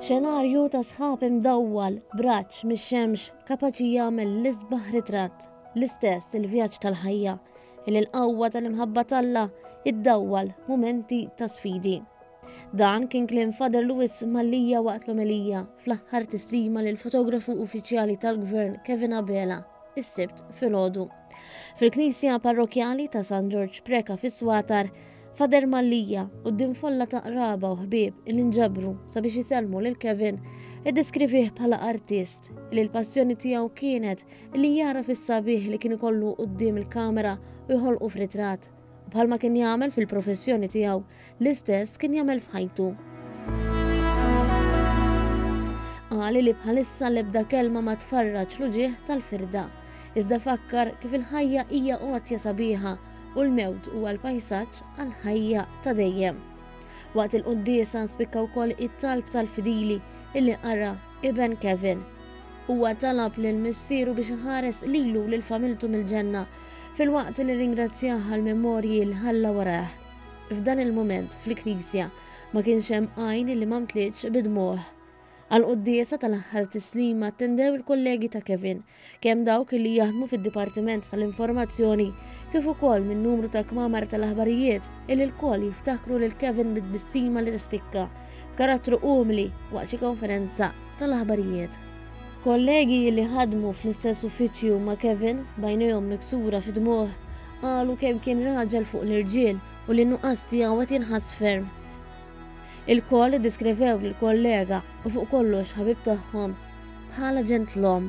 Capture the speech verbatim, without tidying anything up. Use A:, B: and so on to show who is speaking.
A: Xenarju ta' sħab imdawwal b'raġġ mix-xemx kapaċi jagħmel l-isbaħ ritratt. L-istess il-vjaġġ tal-ħajja li l-qawwa tal-imħabba t'Alla iddawwal mumenti ta' sfidi. Dan kien kliem Father Louis Mallia waqt l-omelija fl-aħħar tislima lil fotografu uffiċjali tal-Gvern Kevin Abela is-Sibt filgħodu. Fil-Knisja Parrokjali ta' San Ġorġ Preca fis-Swatar, Father Mallia quddiem folla ta' qraba u ħbieb li nġabru sabiex isellmu lil Kevin iddeskrivih bħala artist li l-passjoni tiegħu kienet li jara fis-sabiħ li kien ikollu quddiem il-kamera u jħolqu f'ritratt. Bħalma kien jagħmel fil-professjoni tiegħu, l-istess kien jagħmel f'ħajtu. Qal li bħalissa l-ebda kelma ma tfarraġ l-uġigħ tal-firda. Iżda fakkar kif il-ħajja hija għotja sabiħa u l-mewt huwa l-pajsaġġ għal-ħajja ta' dejjem. Waqt il-quddiesa nspikka wkoll it-talb tal-fidili illi qara iben Kevin. Huwa talab lil missieru biex iħares lilu lil familtu mill-ġenna filwaqt li ringrazzjah għal memorji li ħalla warah. F'dan il-moment fil-knisja ma kienx hemm għajn li ma mtlitx bid-dmugħ. Għal-quddiesa tal-aħħar tislima attendew il-kollegi ta' Kevin, kemm dawk li jaħdmu fid-Dipartiment tal-Informazzjoni kif ukoll minn numru ta' kmamar tal-aħbarijiet illi lkoll jiftakru lil Kevin bit-tbissima li tispikka, karattru umli waqt xi konferenza tal-aħbarijiet. Kollegi li ħadmu fl-istess uffiċċju ma' Kevin b'għajnejhom miksura fid-dmugħ qalu kemm kien raġel fuq l-irġiel u li nuqqas tiegħu qed jinħass ferm. Ilkoll iddeskrivew lill-kollega u fuq kollox ħabib tagħhom bħala ġentlom.